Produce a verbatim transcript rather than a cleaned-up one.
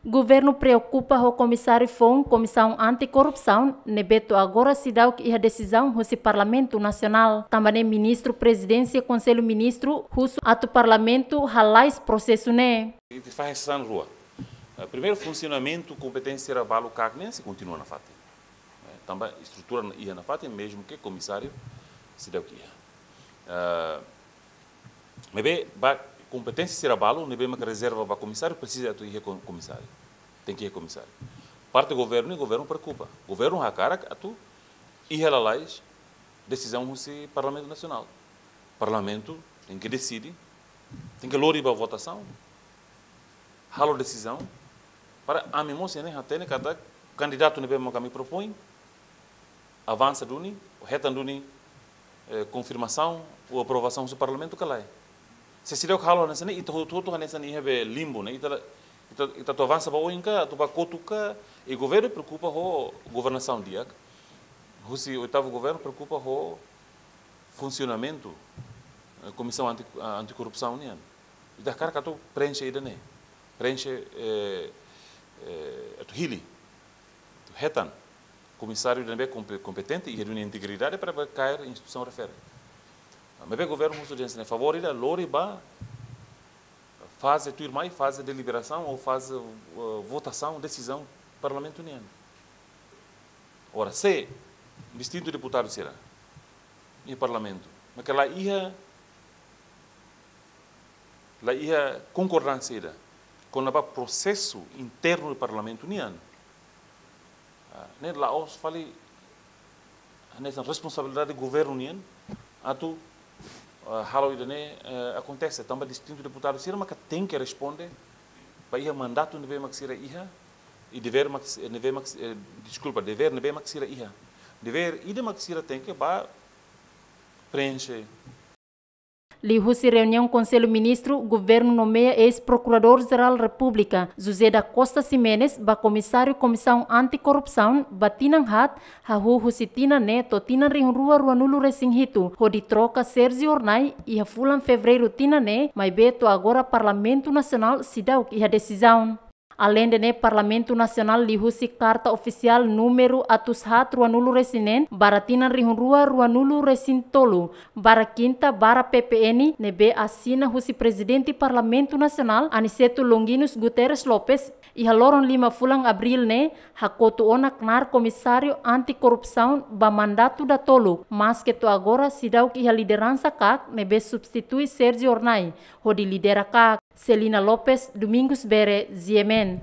Governu preokupa ho komisáriu foun Komisaun Anti-Korrupsaun ne'ebé to'o agora seidauk iha desizaun husi Parlamentu Nasionál. Tanba ne'e Ministru Prezidénsia Konsellu Ministru husu atu Parlamentu halais prosesu ne'e. Ita fahe hanesan rua. Eh, primeiru, funsionamentu kompeténsia sira balu kak ne'e sei kontinua nafatin. Eh, tanba estrutura iha nafatin, mezmu ke komisáriu seidauk iha. Eh, maibé ba kompeténsia sira balu ne'ebé mak rezerva ba komisáriu, presiza atu iha ko-, komisáriu. Tenke iha komisáriu. Parte governu, governu preokupa. Governu hakarak atu iha lalais desizaun husi Parlamentu Nasionál. Parlamentu tenke deside, tenke lori ba votasaun, halo desizaun, para ami mós iha ne'e hatene katak kandidatu ne'ebé mak ami propoin, avansa duni, hetan duni, eh, konfirmasaun ou aprovasaun husi Parlamentu ka lae. Se seidauk halo hanesan ne'e, ita hotu-hotu hanesan iha be limbo ne'e, ita la, ita, ita atu avansa ba oin ka, atu ba kotuk ka, i governu preokupa ho governasaun di'ak. Husi oitavu governu preokupa ho funsionamentu, eh, Komisaun Anti, ah, Anti-Korrupsaun nian. Ita hakarak atu prenxe ida-ne'e. Prenxe, eh, eh, atu hili, atu hetan komisáriu ida ne'ebé kompe-, kompetente, iha duni integridade para ba kaer instituisaun refere. Maibé governu husu dehan hanesan ne'e, favór ida lori ba faze tuirmai, faze deliberasaun ou faze, eh, votasaun, desizaun Parlamentu nian. Ora, se distintu deputadu sira iha Parlamentu, maibé la iha, la iha konkordánsia ida kona-ba prosesu internu Parlamentu nian, ah, ne'e la'ós fali hanesan responsabilidade governu nian atu, ah, halo ida-ne'e, eh, akontese, tanba distintu deputadu sira maka tenke responde ba iha mandatu ne'ebé mak sira iha, i devér mak, ne'ebé mak, eh, deskulpa, devér ne'ebé mak sira iha. Devér ida mak sira tenke ba prenxe. Liuhusi reuniaun Konsellu Ministru, governu nomeia eis-Prokuradór-Jerál Repúblika, José da Costa Ximenes, ba komisáriu Komisaun Anti-Korrupsaun ba tinan haat, hahú husi tinan ne'e to'o tinan rihun rua ruanulu resin hitu, hodi troka Sérgio Hornai iha fulan Fevereiru tinan ne'e, maibé to'o agora Parlamentu Nasionál seidauk iha desizaun. Aleinde ne'e, Parlamentu Nasionál liuhusi karta ofisiál númeru atus haat ruanulu resin neen barra tinan rihun rua ruanulu resin tolu, barra kinta, barra P P N, ne'ebé asina husi Prezidente Parlamentu Nasionál, Aniceto Longuinhos Guterres Lopes, iha loron lima fulan Abríl ne'e, hakotu ona knaar Komisáriu Anti-Korrupsaun ba mandatu datoluk, maske to'o agora seidauk iha lideransa kak ne'ebé substitui Sérgio Hornai hodi lidera kak. Celina Lopes, Domingos Bere, G M N.